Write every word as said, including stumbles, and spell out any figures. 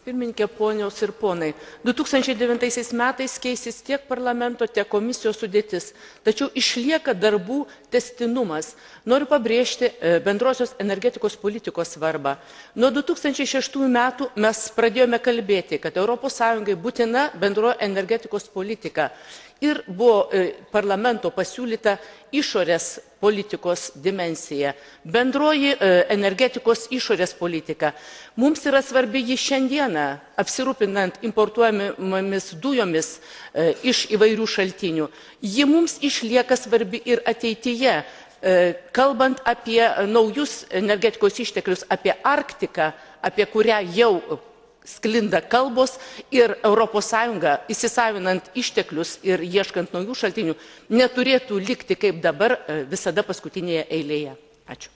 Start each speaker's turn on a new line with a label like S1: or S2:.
S1: Pirmininkė, ponios ir ponai, du tūkstančiai devintaisiais metais keisis tiek parlamento, tiek komisijos sudėtis, tačiau išlieka darbų tęstinumas. Noriu pabrėžti bendrosios energetikos politikos svarbą. Nuo du tūkstančiai šeštųjų metų mes pradėjome kalbėti, kad Europos Sąjungai būtina bendroji energetikos politika. Ir buvo parlamento pasiūlyta išorės politikos dimensija, bendroji energetikos išorės politika. Mums yra svarbi ji šiandieną, apsirūpinant importuojamomis dujomis iš įvairių šaltinių. Ji mums išlieka svarbi ir ateityje, kalbant apie naujus energetikos išteklius, apie Arktiką, apie kurią jau sklinda kalbos, ir Europos Sąjunga, įsisavinant išteklius ir ieškant naujų šaltinių, neturėtų likti kaip dabar visada paskutinėje eilėje. Ačiū.